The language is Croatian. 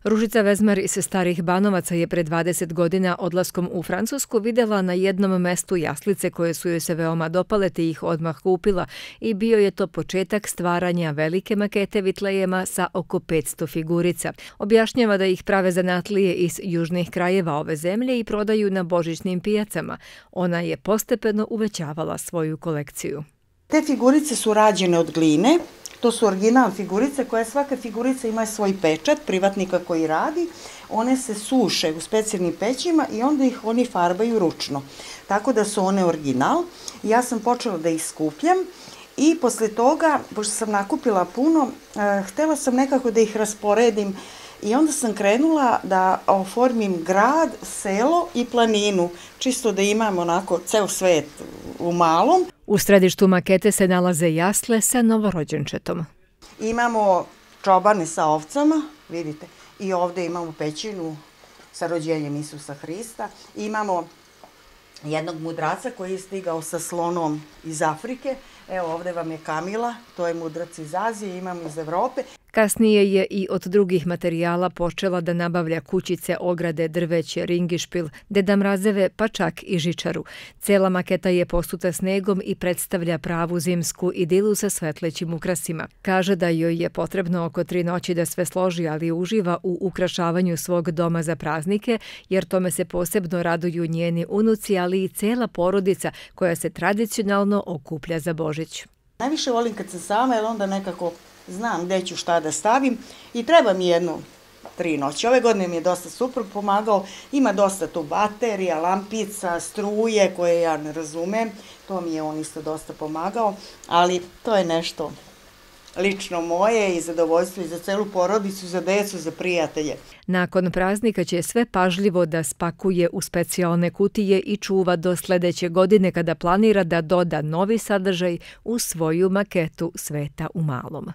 Ružica Vezmar iz Starih Banovaca je pred 20 godina odlaskom u Francusku vidjela na jednom mestu jaslice koje su joj se veoma dopale te ih odmah kupila i bio je to početak stvaranja velike makete vitlejema sa oko 500 figurica. Objašnjava da ih prave zanatlije iz južnih krajeva ove zemlje i prodaju na božićnim pijacama. Ona je postepeno uvećavala svoju kolekciju. Te figurice su rađene od gline. To su original figurice koje svaka figurica ima svoj pečat privatnika koji radi. One se suše u specijalnim pećima i onda ih oni farbaju ručno. Tako da su one original. Ja sam počela da ih skupljam i posle toga, pošto sam nakupila puno, htela sam nekako da ih rasporedim i onda sam krenula da oformim grad, selo i planinu, čisto da imam onako ceo svet u malom. U središtu makete se nalaze jasle sa novorođenčetom. Imamo čobane sa ovcama, vidite, i ovde imamo pećinu sa rođenjem Isusa Hrista. Imamo jednog mudraca koji je stigao sa slonom iz Afrike. Evo ovde vam je Kamila, to je mudrac iz Azije, imamo iz Evrope. Kasnije je i od drugih materijala počela da nabavlja kućice, ograde, drveće, ringišpil, Deda Mrazeve, pa čak i žičaru. Cela maketa je posuta snegom i predstavlja pravu zimsku idilu sa svetlećim ukrasima. Kaže da joj je potrebno oko 3 noći da sve složi, ali uživa u ukrašavanju svog doma za praznike, jer tome se posebno raduju njeni unuci, ali i cela porodica koja se tradicionalno okuplja za Božić. Najviše volim kad sam sama, jer onda nekako znam gde ću šta da stavim i treba mi 3 noći. Ove godine mi je dosta suprug pomagao, ima dosta tu baterija, lampica, struje koje ja ne razumem, to mi je on isto dosta pomagao, ali to je nešto lično moje i zadovoljstvo i za celu porodicu, za decu, za prijatelje. Nakon praznika će sve pažljivo da spakuje u specijalne kutije i čuva do sledeće godine kada planira da doda novi sadržaj u svoju maketu Sveta u malom.